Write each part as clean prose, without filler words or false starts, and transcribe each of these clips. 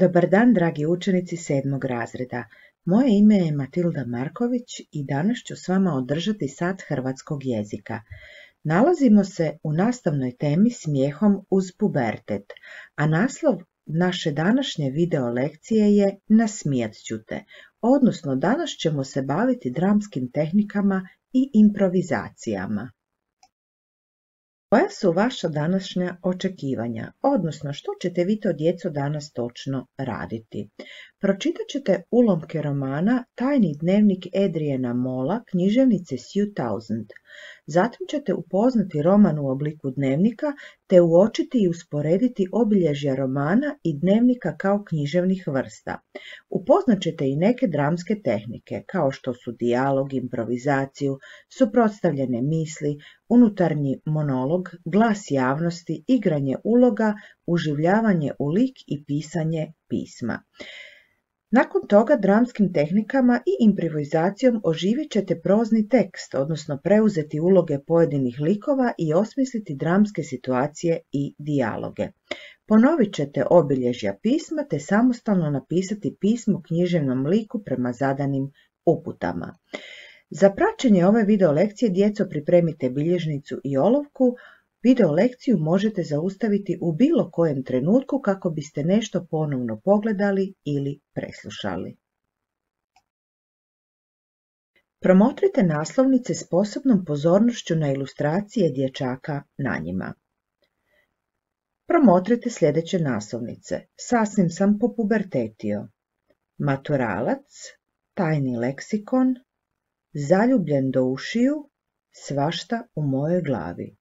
Dobar dan, dragi učenici 7. razreda. Moje ime je Matilda Marković i danas ću s vama održati sat hrvatskog jezika. Nalazimo se u nastavnoj temi Smijehom uz pubertet, a naslov naše današnje video lekcije je Nasmijat ću te, odnosno danas ćemo se baviti dramskim tehnikama i improvizacijama. Koja su vaša današnja očekivanja, odnosno što ćete vi to djeco danas točno raditi? Pročitat ćete ulomke romana Tajni dnevnik Adriana Molla, književnice Sue Townsend. Zatim ćete upoznati roman u obliku dnevnika te uočiti i usporediti obilježja romana i dnevnika kao književnih vrsta. Upoznat ćete i neke dramske tehnike, kao što su dijalog, improvizaciju, suprotstavljene misli, unutarnji monolog, glas javnosti, igranje uloga, uživljavanje u lik i pisanje pisma. Nakon toga dramskim tehnikama i improvizacijom oživjet ćete prozni tekst, odnosno preuzeti uloge pojedinih likova i osmisliti dramske situacije i dijaloge. Ponovit ćete obilježja pisma te samostalno napisati pismo književnom liku prema zadanim uputama. Za praćenje ove video lekcije djeco pripremite bilježnicu i olovku. Video lekciju možete zaustaviti u bilo kojem trenutku kako biste nešto ponovno pogledali ili preslušali. Promotrite naslovnice s posebnom pozornošću na ilustracije dječaka na njima. Promotrite sljedeće naslovnice. Sasvim sam popubertetio. Maturalac, tajni leksikon, zaljubljen do ušiju, svašta u mojoj glavi.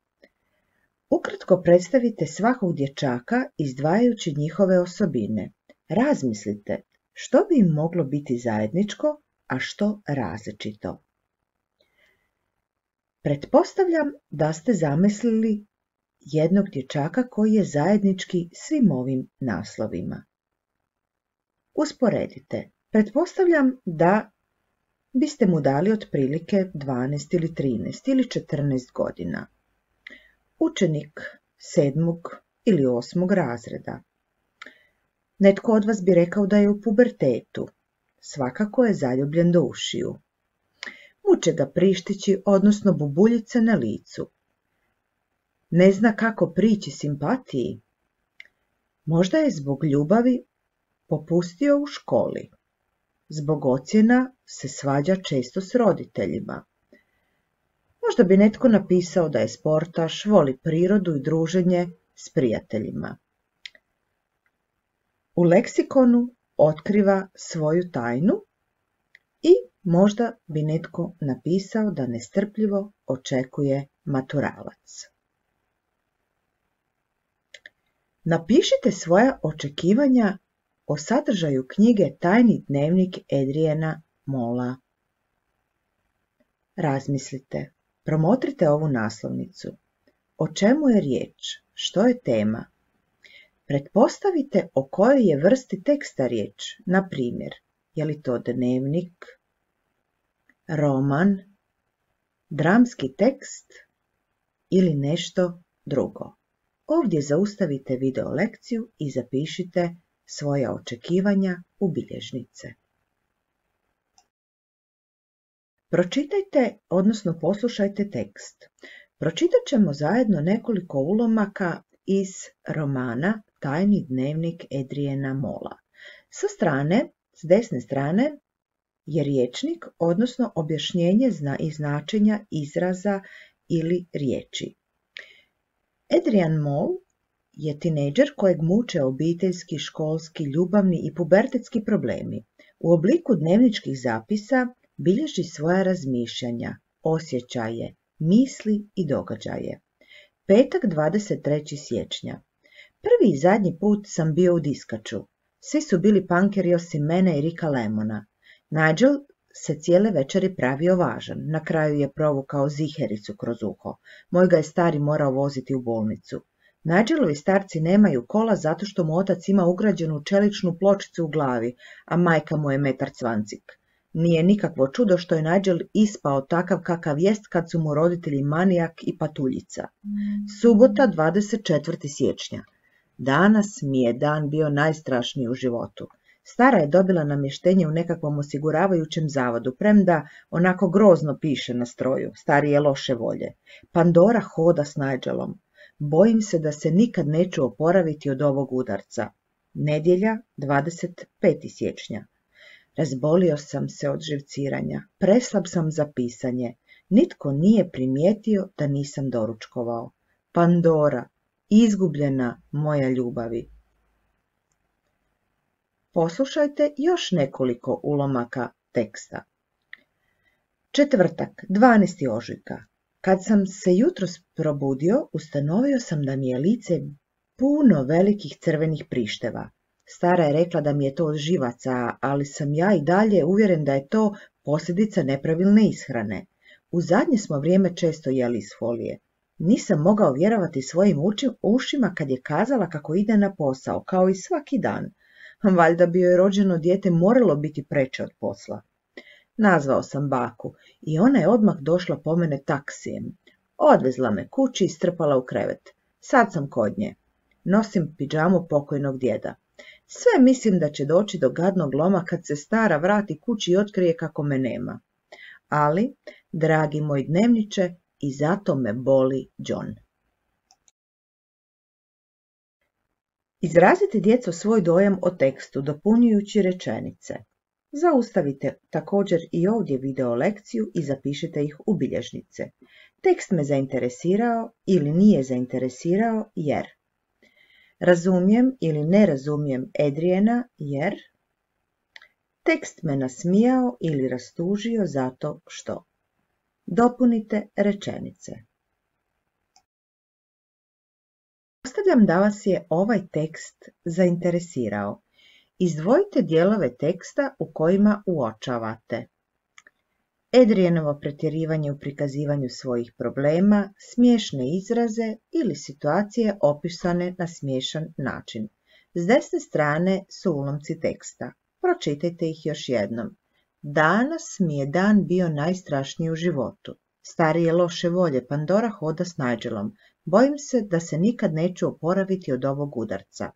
Ukratko predstavite svakog dječaka izdvajajući njihove osobine. Razmislite što bi im moglo biti zajedničko, a što različito. Pretpostavljam da ste zamislili jednog dječaka koji je zajednički svim ovim naslovima. Usporedite. Pretpostavljam da biste mu dali otprilike 12 ili 13 ili 14 godina. Učenik 7. ili 8. razreda. Netko od vas bi rekao da je u pubertetu. Svakako je zaljubljen do ušiju. Muče ga prištići, odnosno bubuljice na licu. Ne zna kako prići simpatiji. Možda je zbog ljubavi popustio u školi. Zbog ocjena se svađa često s roditeljima. Možda bi netko napisao da je sportaš, voli prirodu i druženje s prijateljima. U leksikonu otkriva svoju tajnu i možda bi netko napisao da nestrpljivo očekuje maturalac. Napišite svoja očekivanja o sadržaju knjige Tajni dnevnik Adriana Molla. Razmislite. Promotrite ovu naslovnicu. O čemu je riječ? Što je tema? Pretpostavite o kojoj je vrsti teksta riječ, na primjer, je li to dnevnik, roman, dramski tekst ili nešto drugo. Ovdje zaustavite video lekciju i zapišite svoja očekivanja u bilježnice. Pročitajte, odnosno poslušajte tekst. Pročitat ćemo zajedno nekoliko ulomaka iz romana Tajni dnevnik Adriana Molla. S desne strane je rječnik, odnosno objašnjenje i značenja izraza ili riječi. Adrian Moll je tinejdžer kojeg muče obiteljski, školski, ljubavni i pubertetski problemi. U obliku dnevničkih zapisa bilježi svoja razmišljanja, osjećaje, misli i događaje. Petak 23. siječnja. Prvi i zadnji put sam bio u diskaču. Svi su bili punkeri osim mene i Ricka Lemona. Nigel se cijele večeri pravio važan. Na kraju je provukao zihericu kroz uho. Moj ga je stari morao voziti u bolnicu. Nigelovi starci nemaju kola zato što mu otac ima ugrađenu čeličnu pločicu u glavi, a majka mu je metar cvancik. Nije nikakvo čudo što je Nigel ispao takav kakav jest kad su mu roditelji manijak i patuljica. Subota 24. siječnja. Danas mi je dan bio najstrašniji u životu. Stara je dobila namještenje u nekakvom osiguravajućem zavodu, premda onako grozno piše na stroju. Stari je loše volje. Pandora hoda s Nigelom. Bojim se da se nikad neću oporaviti od ovog udarca. Nedjelja, 25. siječnja. Razbolio sam se od živciranja. Preslab sam za pisanje. Nitko nije primijetio da nisam doručkovao. Pandora, izgubljena moja ljubavi. Poslušajte još nekoliko ulomaka teksta. Četvrtak, 12. ožujka. Kad sam se jutros probudio, ustanovio sam da mi je lice puno velikih crvenih prišteva. Stara je rekla da mi je to od živaca, ali sam ja i dalje uvjeren da je to posljedica nepravilne ishrane. U zadnje smo vrijeme često jeli iz folije. Nisam mogao vjerovati svojim ušima kad je kazala kako ide na posao, kao i svaki dan. Valjda bi joj rođeno dijete moralo biti preče od posla. Nazvao sam baku i ona je odmah došla po mene taksijem. Odvezla me kući i strpala u krevet. Sad sam kod nje. Nosim pidžamu pokojnog djeda. Sve mislim da će doći do gadnog loma kad se stara vrati kući i otkrije kako me nema. Ali, dragi moj dnevniče, i zato me boli John. Izrazite djeco svoj dojam o tekstu dopunjujući rečenice. Zaustavite također i ovdje video lekciju i zapišite ih u bilježnice. Tekst me zainteresirao ili nije zainteresirao jer. Razumijem ili ne razumijem Adriana jer. Tekst me nasmijao ili rastužio zato što. Dopunite rečenice. Pretpostavljam da vas je ovaj tekst zainteresirao. Izdvojite dijelove teksta u kojima uočavate Adrianovo pretjerivanje u prikazivanju svojih problema, smiješne izraze ili situacije opisane na smiješan način. S desne strane su ulomci teksta. Pročitajte ih još jednom. Danas mi je dan bio najstrašniji u životu. Stari je loše volje, Pandora hoda s Nigelom. Bojim se da se nikad neću oporaviti od ovog udarca.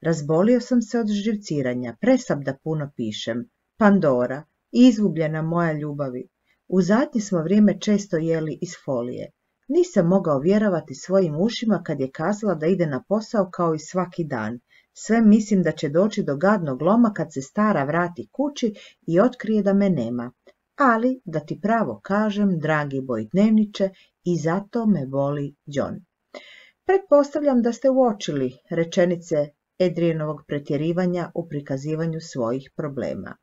Razbolio sam se od živciranja, presab da puno pišem. Pandora, izgubljena moja ljubavi. U zadnje smo vrijeme često jeli iz folije. Nisam mogao vjerovati svojim ušima kad je kazala da ide na posao kao i svaki dan. Sve mislim da će doći do gadnog loma kad se stara vrati kući i otkrije da me nema. Ali, da ti pravo kažem, dragi moj dnevniče, i zato me boli John. Pretpostavljam da ste uočili rečenice Adrianovog pretjerivanja u prikazivanju svojih problema.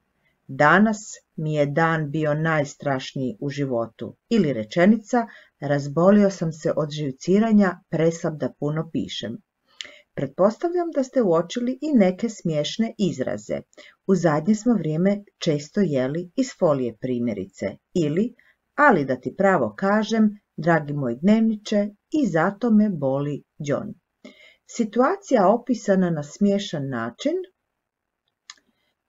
Danas mi je dan bio najstrašniji u životu. Ili rečenica, razbolio sam se od živciranja, preslab da puno pišem. Pretpostavljam da ste uočili i neke smiješne izraze. U zadnje smo vrijeme često jeli iz folije primjerice. Ili, ali da ti pravo kažem, dragi moj dnevniče, i zato me boli John. Situacija opisana na smiješan način.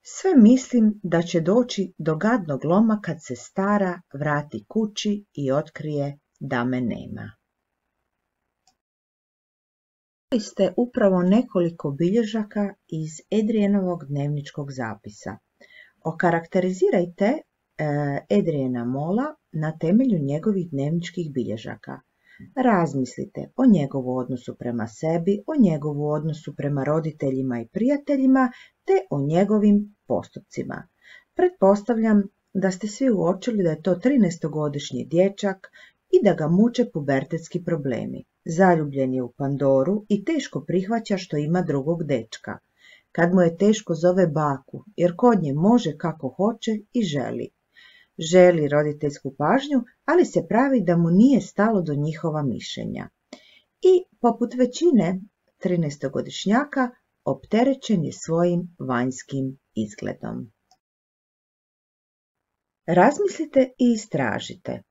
Sve mislim da će doći do gadnog loma kad se stara vrati kući i otkrije da me nema. Čuli ste upravo nekoliko bilježaka iz Adrianovog dnevničkog zapisa. Okarakterizirajte Adriana Molla na temelju njegovih dnevničkih bilježaka. Razmislite o njegovu odnosu prema sebi, o njegovu odnosu prema roditeljima i prijateljima, te o njegovim postupcima. Pretpostavljam da ste svi uočili da je to 13-godišnji dječak i da ga muče pubertetski problemi. Zaljubljen je u Pandoru i teško prihvaća što ima drugog dečka. Kad mu je teško zove baku, jer kod nje može kako hoće i želi. Želi roditeljsku pažnju, ali se pravi da mu nije stalo do njihova mišljenja. I, poput većine 13-godišnjaka, opterećen je svojim vanjskim izgledom. Razmislite i istražite.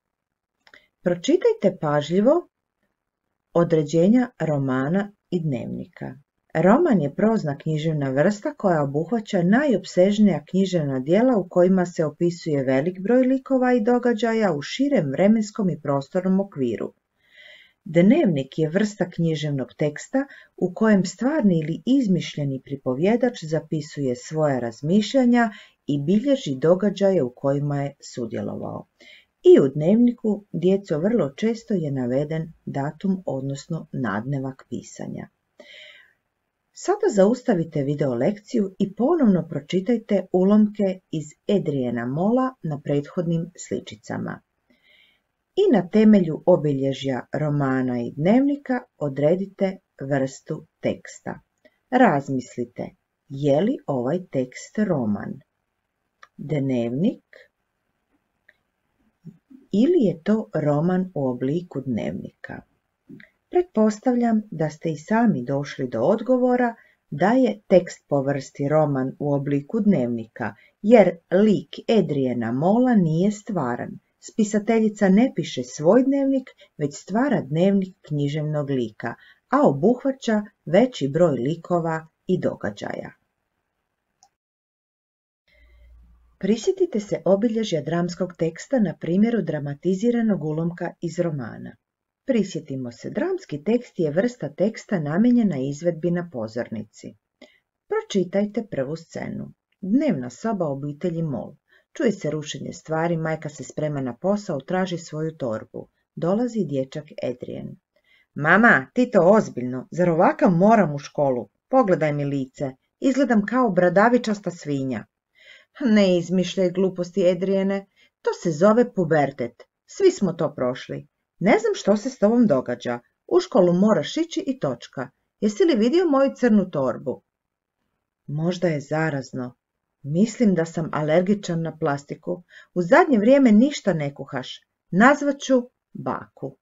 Pročitajte pažljivo određenja romana i dnevnika. Roman je prozna književna vrsta koja obuhvaća najopsežnija književna djela u kojima se opisuje velik broj likova i događaja u širem vremenskom i prostornom okviru. Dnevnik je vrsta književnog teksta u kojem stvarni ili izmišljeni pripovjedač zapisuje svoja razmišljanja i bilježi događaje u kojima je sudjelovao. I u dnevniku, djeco, vrlo često je naveden datum, odnosno nadnevak pisanja. Sada zaustavite video lekciju i ponovno pročitajte ulomke iz Adriana Molla na prethodnim sličicama. I na temelju obilježja romana i dnevnika odredite vrstu teksta. Razmislite, je li ovaj tekst roman, dnevnik ili je to roman u obliku dnevnika? Pretpostavljam da ste i sami došli do odgovora da je tekst po vrsti roman u obliku dnevnika, jer lik Adriana Molla nije stvaran. Spisateljica ne piše svoj dnevnik, već stvara dnevnik književnog lika, a obuhvaća veći broj likova i događaja. Prisjetite se obilježja dramskog teksta na primjeru dramatiziranog ulomka iz romana. Prisjetimo se, dramski tekst je vrsta teksta namijenjena izvedbi na pozornici. Pročitajte prvu scenu. Dnevna soba obitelji Moll. Čuje se rušenje stvari, majka se sprema na posao, traži svoju torbu. Dolazi dječak Adrian. Mama, ti to ozbiljno, zar ovakav moram u školu? Pogledaj mi lice, izgledam kao bradavičasta svinja. Ne izmišljaj gluposti, Adriane, to se zove pubertet. Svi smo to prošli. Ne znam što se s tobom događa. U školu moraš ići i točka. Jesi li vidio moju crnu torbu? Možda je zarazno. Mislim da sam alergičan na plastiku. U zadnje vrijeme ništa ne kuhaš. Nazvat ću baku.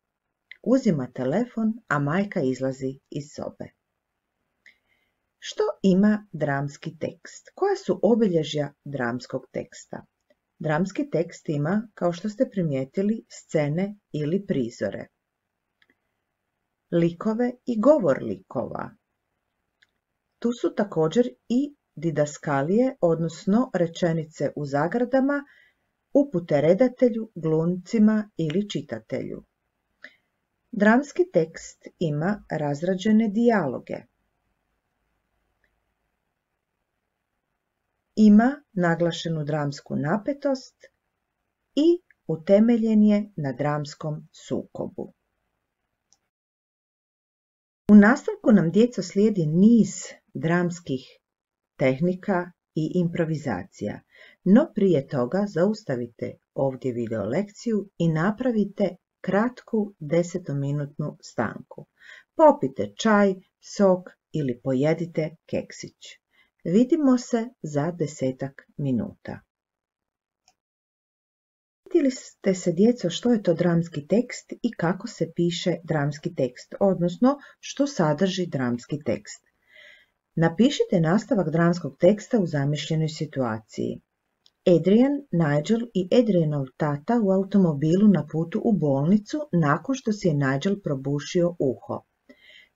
Uzima telefon, a majka izlazi iz sobe. Što ima dramski tekst? Koja su obilježja dramskog teksta? Dramski tekst ima, kao što ste primijetili, scene ili prizore, likove i govor likova. Tu su također i didaskalije, odnosno rečenice u zagradama, upute redatelju, glumcima ili čitatelju. Dramski tekst ima razrađene dijaloge. Ima naglašenu dramsku napetost i utemeljen je na dramskom sukobu. U nastavku nam, djeco, slijedi niz dramskih tehnika i improvizacija, no prije toga zaustavite ovdje video lekciju i napravite kratku 10-minutnu stanku. Popite čaj, sok ili pojedite keksić. Vidimo se za 10 minuta. Vidjeli ste se, djeco, što je to dramski tekst i kako se piše dramski tekst, odnosno što sadrži dramski tekst. Napišite nastavak dramskog teksta u zamišljenoj situaciji. Adrian, Nigel i Adrianov tata u automobilu na putu u bolnicu nakon što si je Nigel probušio uho.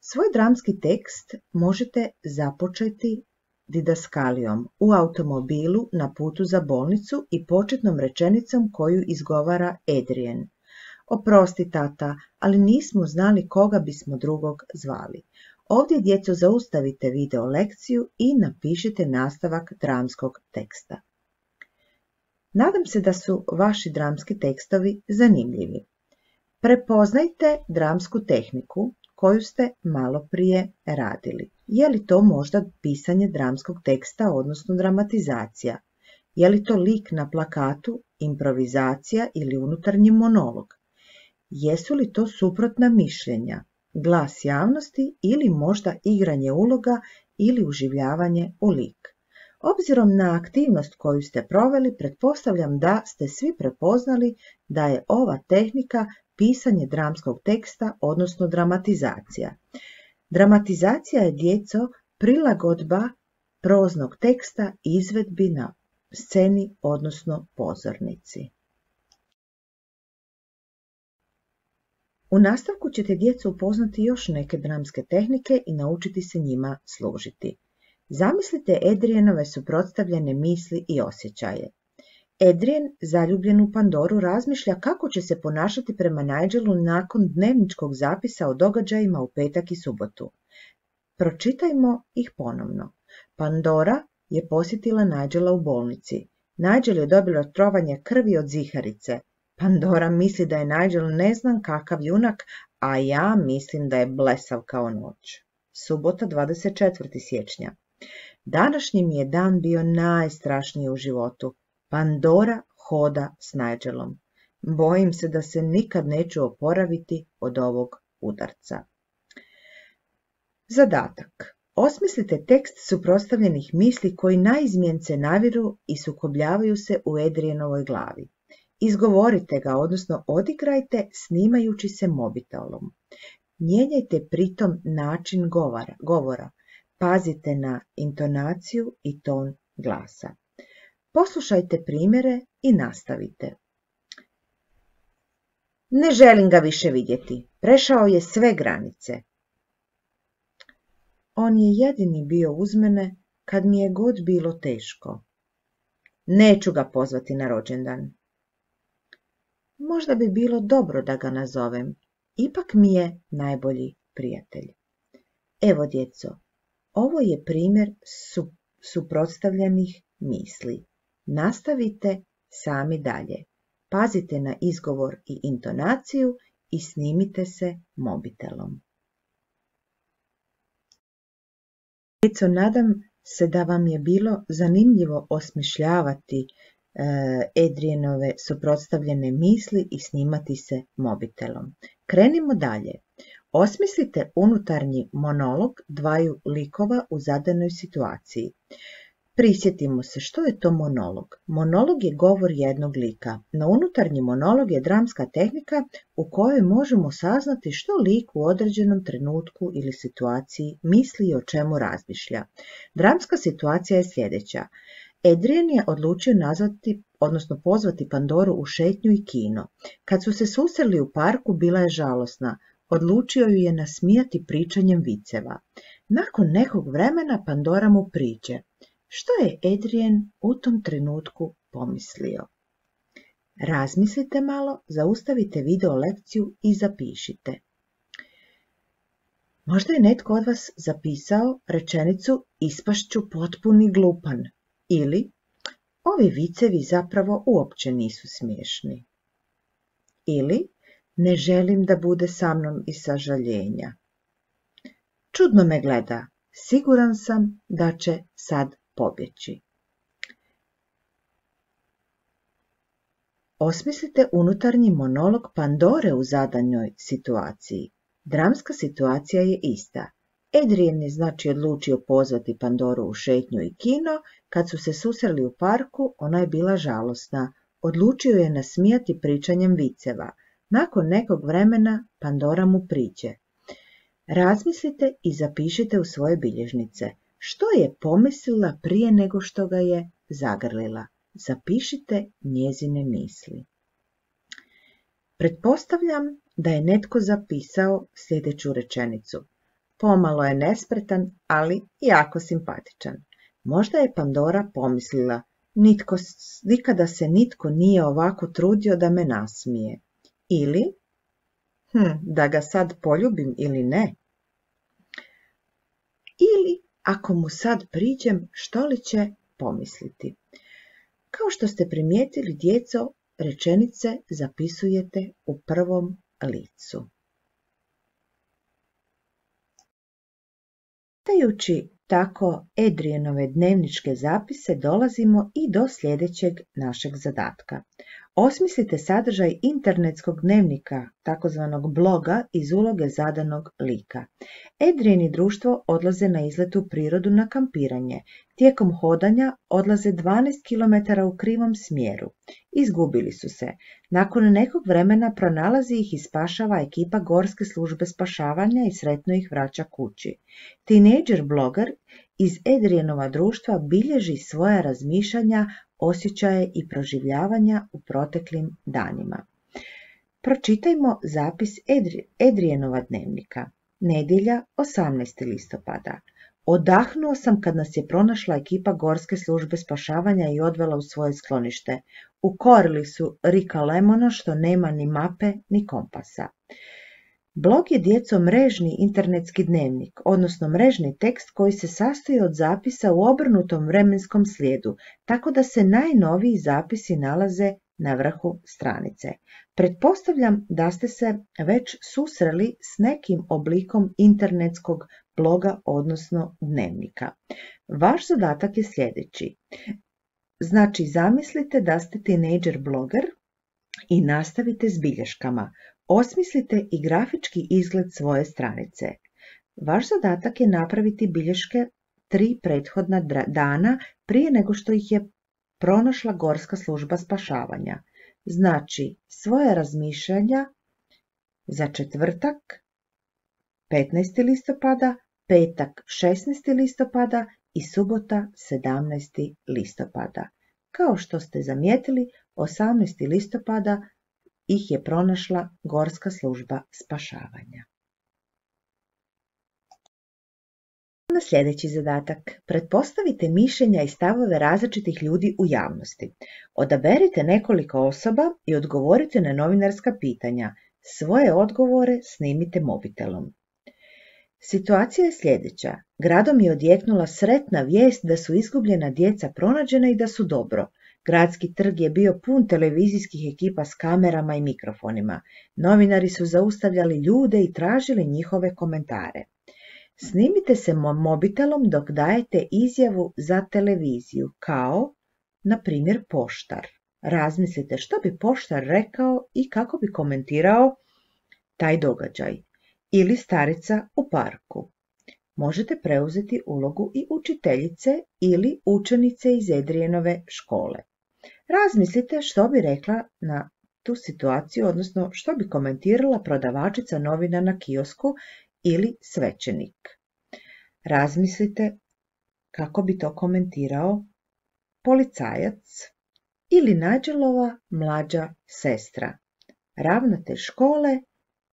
Svoj dramski tekst možete započeti didaskalijom u automobilu na putu za bolnicu i početnom rečenicom koju izgovara Adrian. Oprosti, tata, ali nismo znali koga bismo drugog zvali. Ovdje, djeco, zaustavite video lekciju i napišite nastavak dramskog teksta. Nadam se da su vaši dramski tekstovi zanimljivi. Prepoznajte dramsku tehniku koju ste malo prije radili. Je li to možda pisanje dramskog teksta, odnosno dramatizacija? Je li to lik na plakatu, improvizacija ili unutarnji monolog? Jesu li to suprotna mišljenja, glas javnosti ili možda igranje uloga ili uživljavanje u lik? Obzirom na aktivnost koju ste proveli, pretpostavljam da ste svi prepoznali da je ova tehnika pisanje dramskog teksta, odnosno dramatizacija. Dramatizacija je, djeco, prilagodba proznog teksta izvedbi na sceni, odnosno pozornici. U nastavku ćete, djeco, upoznati još neke dramske tehnike i naučiti se njima služiti. Zamislite Adrianove suprotstavljene misli i osjećaje. Adrien, zaljubljen u Pandoru, razmišlja kako će se ponašati prema Nigelu nakon dnevničkog zapisa o događajima u petak i subotu. Pročitajmo ih ponovno. Pandora je posjetila Nigela u bolnici. Nigel je dobila trovanje krvi od ziharice. Pandora misli da je Nigel ne znam kakav junak, a ja mislim da je blesav kao noć. Subota 24. siječnja. Današnji mi je dan bio najstrašniji u životu. Pandora hoda s Nigelom. Bojim se da se nikad neću oporaviti od ovog udarca. Zadatak. Osmislite tekst suprotstavljenih misli koji naizmjence naviru i sukobljavaju se u Adrienovoj glavi. Izgovorite ga, odnosno odigrajte snimajući se mobitelom. Mijenjajte pritom način govora. Pazite na intonaciju i ton glasa. Poslušajte primjere i nastavite. Ne želim ga više vidjeti. Prešao je sve granice. On je jedini bio uz mene kad mi je god bilo teško. Neću ga pozvati na rođendan. Možda bi bilo dobro da ga nazovem. Ipak mi je najbolji prijatelj. Evo, djeco, ovo je primjer suprotstavljenih misli. Nastavite sami dalje. Pazite na izgovor i intonaciju i snimite se mobitelom. Djeco, nadam se da vam je bilo zanimljivo osmišljavati Adrienove suprotstavljene misli i snimati se mobitelom. Krenimo dalje. Osmislite unutarnji monolog dvaju likova u zadanoj situaciji. Prisjetimo se što je to monolog. Monolog je govor jednog lika, no unutarnji monolog je dramska tehnika u kojoj možemo saznati što lik u određenom trenutku ili situaciji misli i o čemu razmišlja. Dramska situacija je sljedeća. Adrien je odlučio pozvati Pandoru u šetnju i kino. Kad su se susreli u parku, bila je žalosna. Odlučio ju je nasmijati pričanjem viceva. Nakon nekog vremena Pandora mu priđe. Što je Adrien u tom trenutku pomislio? Razmislite malo, zaustavite video lekciju i zapišite. Možda je netko od vas zapisao rečenicu ispašću potpuni glupan ili ovi vicevi zapravo uopće nisu smiješni. Ili ne želim da bude sa mnom iz sažaljenja. Čudno me gleda, siguran sam da će sad pobjeći. Osmislite unutarnji monolog Pandore u zadanjoj situaciji. Dramska situacija je ista. Adrien je odlučio pozvati Pandoru u šetnju i kino. Kad su se susreli u parku, ona je bila žalosna. Odlučio je nasmijati pričanjem viceva. Nakon nekog vremena Pandora mu priđe. Razmislite i zapišite u svoje bilježnice. Što je pomislila prije nego što ga je zagrlila? Zapišite njezine misli. Pretpostavljam da je netko zapisao sljedeću rečenicu. Pomalo je nespretan, ali jako simpatičan. Možda je Pandora pomislila, nikada se nitko nije ovako trudio da me nasmije. Ili, da ga sad poljubim ili ne. Ili, ako mu sad priđem, što li će pomisliti? Kao što ste primijetili, djeco, rečenice zapisujete u prvom licu. Čitajući tako Adrienove dnevničke zapise dolazimo i do sljedećeg našeg zadatka. Osmislite sadržaj internetskog dnevnika, takozvanog bloga, iz uloge zadanog lika. Adrien i društvo odlaze na izlet u prirodu na kampiranje. Tijekom hodanja odlaze 12 km u krivom smjeru. Izgubili su se. Nakon nekog vremena pronalazi ih i spašava ekipa Gorske službe spašavanja i sretno ih vraća kući. Tinejdžer bloger iz Adrienova društva bilježi svoja razmišljanja, osjećaje i proživljavanja u proteklim danima. Pročitajmo zapis Adrienova dnevnika. Nedjelja, 18. listopada. Odahnuo sam kad nas je pronašla ekipa Gorske službe spašavanja i odvela u svoje sklonište. Ukorili su Rika Lemona što nema ni mape ni kompasa. Blog je djeco mrežni internetski dnevnik, odnosno mrežni tekst koji se sastoji od zapisa u obrnutom vremenskom slijedu, tako da se najnoviji zapisi nalaze na vrhu stranice. Pretpostavljam da ste se već susreli s nekim oblikom internetskog bloga, odnosno dnevnika. Vaš zadatak je sljedeći. Znači, zamislite da ste tinejdžer bloger i nastavite s bilješkama. Osmislite i grafički izgled svoje stranice. Vaš zadatak je napraviti bilješke 3 prethodna dana prije nego što ih je pronašla Gorska služba spašavanja. Znači, svoje razmišljanja za četvrtak 15. listopada, petak 16. listopada i subota 17. listopada. Kao što ste zamijetili, 18. listopada ih je pronašla Gorska služba spašavanja. Na sljedeći zadatak. Pretpostavite mišljenja i stavove različitih ljudi u javnosti. Odaberite nekoliko osoba i odgovorite na novinarska pitanja. Svoje odgovore snimite mobitelom. Situacija je sljedeća. Gradom je odjeknula sretna vijest da su izgubljena djeca pronađena i da su dobro. Gradski trg je bio pun televizijskih ekipa s kamerama i mikrofonima. Novinari su zaustavljali ljude i tražili njihove komentare. Snimite se mobitelom dok dajete izjavu za televiziju, kao, na primjer, poštar. Razmislite što bi poštar rekao i kako bi komentirao taj događaj. Ili starica u parku. Možete preuzeti ulogu i učiteljice ili učenice iz Adrianove škole. Razmislite što bi rekla na tu situaciju, odnosno što bi komentirala prodavačica novina na kiosku ili svećenik. Razmislite kako bi to komentirao policajac ili Nađelova mlađa sestra, ravnatelj škole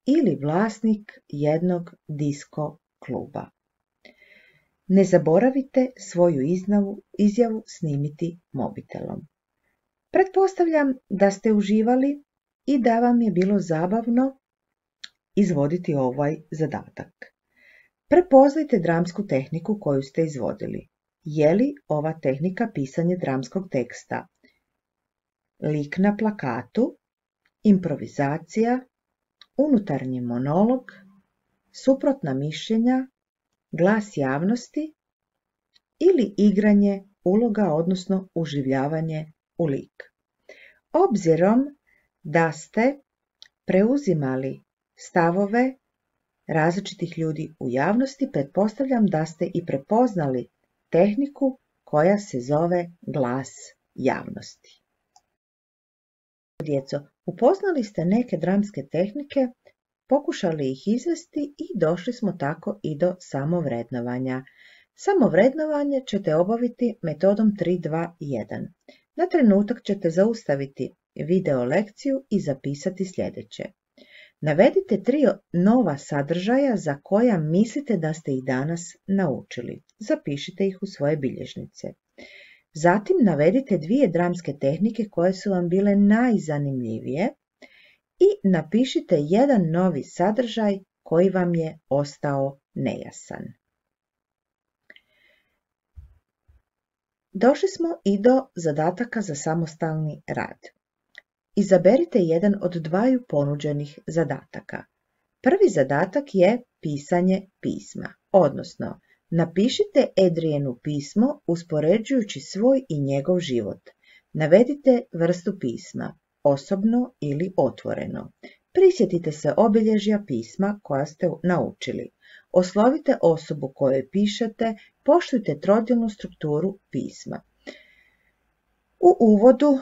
ili vlasnik jednog disko kluba. Ne zaboravite svoju izjavu snimiti mobitelom. Pretpostavljam da ste uživali i da vam je bilo zabavno izvoditi ovaj zadatak. Prepoznajte dramsku tehniku koju ste izvodili. Je li ova tehnika pisanje dramskog teksta? Lik na plakatu, improvizacija, unutarnji monolog, suprotna mišljenja, glas javnosti ili igranje uloga, odnosno uživljavanje u lik. Obzirom da ste preuzimali stavove različitih ljudi u javnosti, pretpostavljam da ste i prepoznali tehniku koja se zove glas javnosti. Djeco, upoznali ste neke dramske tehnike, pokušali ih izvesti i došli smo tako i do samovrednovanja. Samovrednovanje ćete obaviti metodom 3-2-1. Na trenutak ćete zaustaviti video lekciju i zapisati sljedeće. Navedite 3 nova sadržaja za koja mislite da ste ih danas naučili. Zapišite ih u svoje bilježnice. Zatim navedite 2 dramske tehnike koje su vam bile najzanimljivije i napišite 1 novi sadržaj koji vam je ostao nejasan. Došli smo i do zadataka za samostalni rad. Izaberite jedan od 2 ponuđenih zadataka. Prvi zadatak je pisanje pisma, odnosno napišite Adrianu pismo uspoređujući svoj i njegov život. Navedite vrstu pisma, osobno ili otvoreno. Prisjetite se obilježja pisma koja ste naučili. Oslovite osobu kojoj pišete, poštujte trodilnu strukturu pisma. U uvodu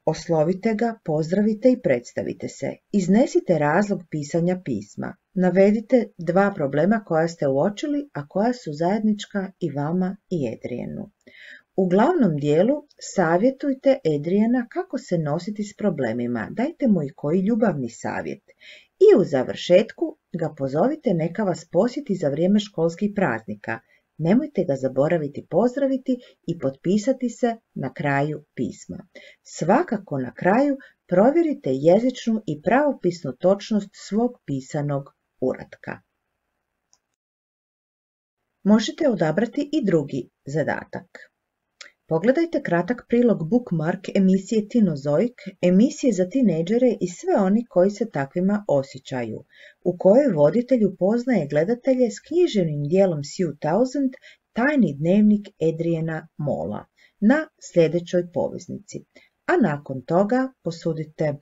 oslovite ga, pozdravite i predstavite se. Iznesite razlog pisanja pisma. Navedite 2 problema koja ste uočili, a koja su zajednička i vama i Adrianu. U glavnom dijelu savjetujte Adriana kako se nositi s problemima, dajte mu i koji ljubavni savjet. I u završetku ga pozovite neka vas posjeti za vrijeme školskih praznika. Nemojte ga zaboraviti pozdraviti i potpisati se na kraju pisma. Svakako na kraju provjerite jezičnu i pravopisnu točnost svog pisanog uratka. Možete odabrati i drugi zadatak. Pogledajte kratak prilog bookmark emisije Tinozoik, emisije za tinejdžere i sve oni koji se takvima osjećaju, u kojoj voditelj upoznaje gledatelje s književnim dijelom Sue Townsend, Tajni dnevnik Adriana Mola, na sljedećoj poveznici. A nakon toga posudite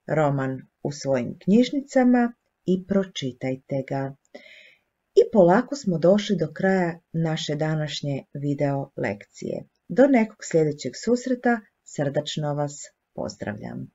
roman u svojim knjižnicama i pročitajte ga. I polako smo došli do kraja naše današnje video lekcije. Do nekog sljedećeg susreta, srdačno vas pozdravljam.